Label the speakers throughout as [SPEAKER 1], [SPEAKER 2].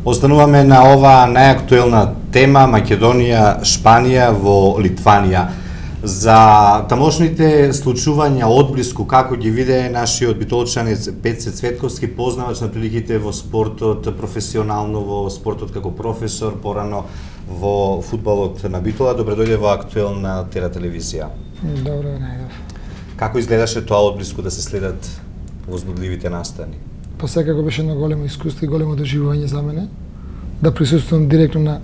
[SPEAKER 1] Остануваме на ова најактуелна тема Македонија, Шпанија во Литванија. За тамошните случувања одблиску како ги виде нашиот битолчанец Пеце Цветковски, познавач на приликите во спортот, професионално во спортот како професор, порано во фудбалот на Битола. Добре дојде во актуелна телевизија.
[SPEAKER 2] Добро најдов.
[SPEAKER 1] Како изгледаше тоа одблиску да се следат возбудливите настани?
[SPEAKER 2] Па секако беше едно големо искуство и големо доживување за мене да присуствувам директно на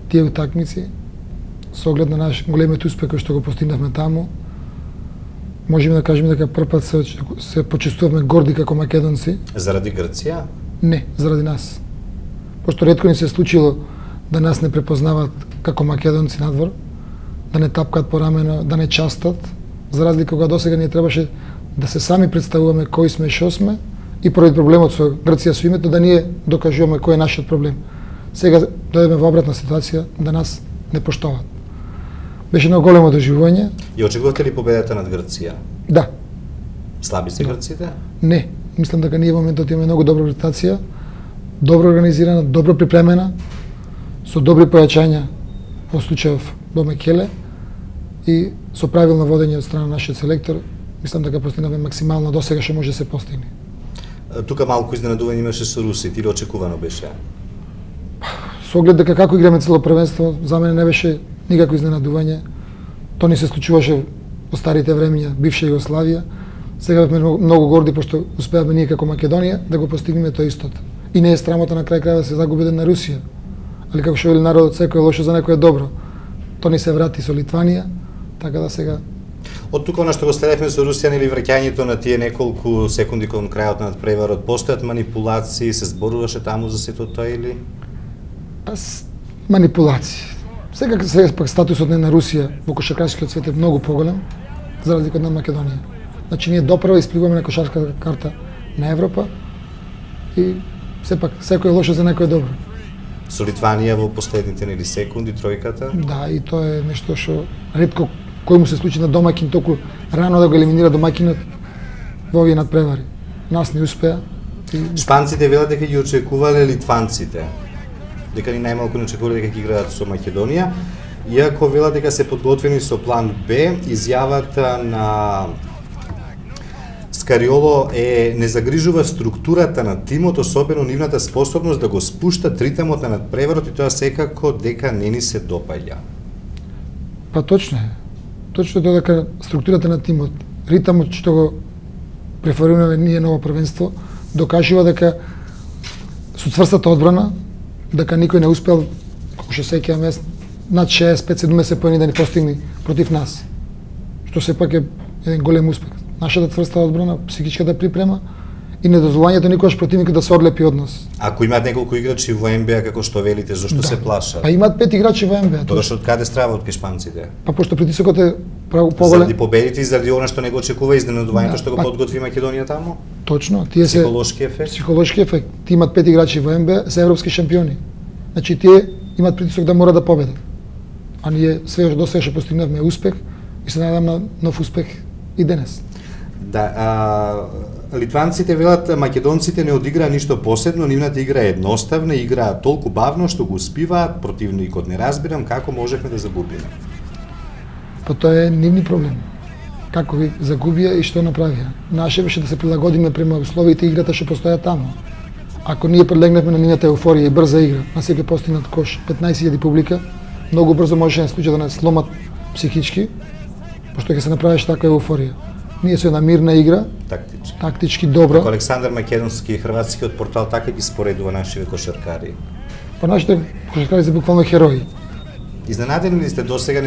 [SPEAKER 2] тие утакмици со оглед на наш големиот успех кој што го постигнавме таму. Можеме да кажеме дека прв пат се почувствувавме горди како македонци.
[SPEAKER 1] Заради Грција?
[SPEAKER 2] Не, заради нас. Пошто ретко ни се случило да нас не препознаваат како македонци надвор, да не тапкаат по рамено, да не частат, за разлика кога досега ние требаше да се сами представуваме кои сме и шо сме, и поради проблемот со Грција со името да ние докажуваме кој е нашиот проблем. Сега дојдеме во обратна ситуација да нас не поштоваат. Беше едно големо доживување.
[SPEAKER 1] И очекувате ли победата над Грција?
[SPEAKER 2] Да.
[SPEAKER 1] Слаби се грците?
[SPEAKER 2] Не, мислам дека ние во моментот имаме многу добра ротација, добро организирана, добро припремена, со добри појачања во случајов до Мекеле и со правилно водење од страна на нашиот селектор. Мислам дека постигнавме максимално досега што може да се постигне.
[SPEAKER 1] Тука малку изненадување имаше со Русија, или очекувано беше?
[SPEAKER 2] Со оглед дека како играме цело првенство, за мене не беше никакво изненадување. Тоа ни се случуваше во старите времиња, бивша Југославија. Сега бевме многу горди пошто успеавме ние како Македонија да го постигнеме тоа истото. И не е срамота на крај крајот да се загуби на Русија. Али како што вели народот, секој е лошо за некој е добро. Тоа ни се врати со Литванија, така да сега
[SPEAKER 1] од тука она што го следевме со Русија, нели враќањето на тие неколку секунди кон крајот на надпреварот, постојат манипулации, се зборуваше таму за сето тоа или?
[SPEAKER 2] Манипулации. Сега пак статусот на Русија во кошаркарскиот свет е многу поголем за разлика од Македонија. Значи ние допрва испливаме на кошаркарската карта на Европа и сепак секој е лошо за некој е добро.
[SPEAKER 1] Со Литванија во последните нели секунди тројката?
[SPEAKER 2] Да, и тоа е нешто што ретко кој му се случи на домаќин толку рано да го елиминира домаќинот во овие надпревари. Нас не успеа.
[SPEAKER 1] Шпанците велат дека ги очекувале литванците. Дека ни најмалку не очекувале дека ќе играат со Македонија, иако велат дека се подготвени со план Б. Изјавата на Скариоло не загрижува структурата на тимот, особено нивната способност да го спушта ритмот на надпреварот, и тоа секако дека не ни се допаѓа.
[SPEAKER 2] Па точно е. Точно тоа дека структурата на тимот, ритмот што го преферираме ние на ова првенство, докажува дека со цврстата одбрана, дека никој не успел, како што сеќавам јас, над 65-70 поени да ни постигне против нас. Што сепак е еден голем успех. Нашата цврста одбрана, психичката припрема и недозволувањето никогаш противникот да се одлепи од нас.
[SPEAKER 1] Ако имаат неколку играчи во НБА, како што велите, зошто се плашат?
[SPEAKER 2] Па имаат 5 играчи во НБА.
[SPEAKER 1] Тогаш од каде страват кај шпанците?
[SPEAKER 2] Па пошто притисокот е поголем.
[SPEAKER 1] Заради победите и заради она што не го очекува изненадувањето што го подготви Македонија таму?
[SPEAKER 2] Точно, тие се
[SPEAKER 1] психолошки ефект.
[SPEAKER 2] Психолошки ефект. Тие имаат 5 играчи во НБА, се европски шампиони. Значи тие имаат притисок да мора да победат. А ние све до сега што постигнавме успех и се надевам на нов успех и денес.
[SPEAKER 1] Да, литванците велат македонците не одиграа ништо посебно, нивната игра е едноставна, играа толку бавно што го успиваат, противникот не разбирам како можехме да загубиме.
[SPEAKER 2] Па тоа е нивни проблем. Како ги загубија и што направија. Наше беше да се прилагодиме према условите и играта што постоја таму. Ако ние прилегнавме на нивната еуфорија и брза игра, на секој постигнат кош, 15.000 публика, многу брзо можеше да се случи да не сломат психички, пошто ќе се направиш таква еуфорија. Ние со една мирна игра, тактички добра.
[SPEAKER 1] Како Александар Македонски и хрватскиот портал така ги споредува нашите кошаркари.
[SPEAKER 2] Па нашите кошаркари се буквално херои.
[SPEAKER 1] Изненадени ли сте досега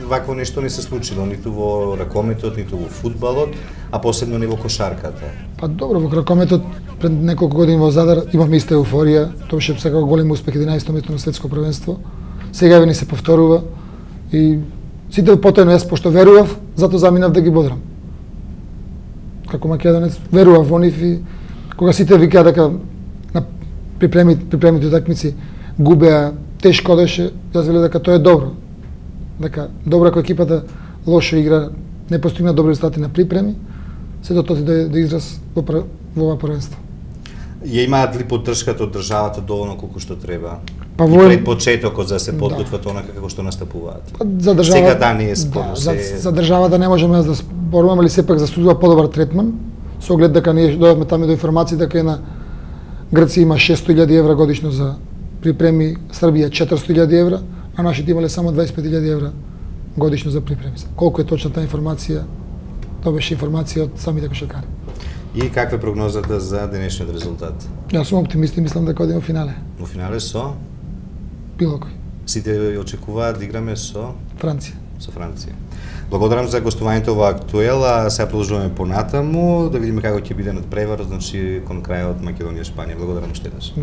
[SPEAKER 1] вакво нешто не се случило ниту во ракометот, ниту во фудбалот, а посебно не во кошарката?
[SPEAKER 2] Па добро, во ракометот пред неколку години во Задар имавме иста еуфорија, тоа беше секако голем успех, 11-то место на светско првенство. Сега ни се повторува и сите потоено јас пошто верував, затоа заминав да ги бодрам. Како македонец верував во нив и кога сите викаа дека на припремите утакмици губеа, тешко одеше, јас велев дека тоа е добро. Дека добро ако екипата лошо игра, не постигна добри резултати на припреми, се до тоа да израз во ова првенство.
[SPEAKER 1] Ја имаат ли поддршката од државата доволно колку што треба?
[SPEAKER 2] Па
[SPEAKER 1] И пред почетокот за се подготват онака како што настапуваат.
[SPEAKER 2] За државата,
[SPEAKER 1] сега да не е спорно.
[SPEAKER 2] За државата не можеме да споруваме, али сепак заслужува подобар третман, со оглед дека ние дојдовме таму до информација дека на Грција има 600.000 евра годишно за припреми, Србија 400.000 евра, а нашите имале само 25.000 евра годишно за припреми. Колку е точна таа информација? Тоа беше информација од самите кошаркари.
[SPEAKER 1] И каква е прогнозата за денешниот резултат?
[SPEAKER 2] Јас сум оптимист и мислам дека одиме во финале.
[SPEAKER 1] Во финале со?
[SPEAKER 2] Било кој.
[SPEAKER 1] Сите очекуваат да играме со
[SPEAKER 2] Франција.
[SPEAKER 1] Со Франција. Благодарам за гостувањето во Актуела, сега продолжуваме понатаму, да видиме како ќе биде надпреварот, значи кон крајот Македонија Шпанија. Благодарам уште еднаш.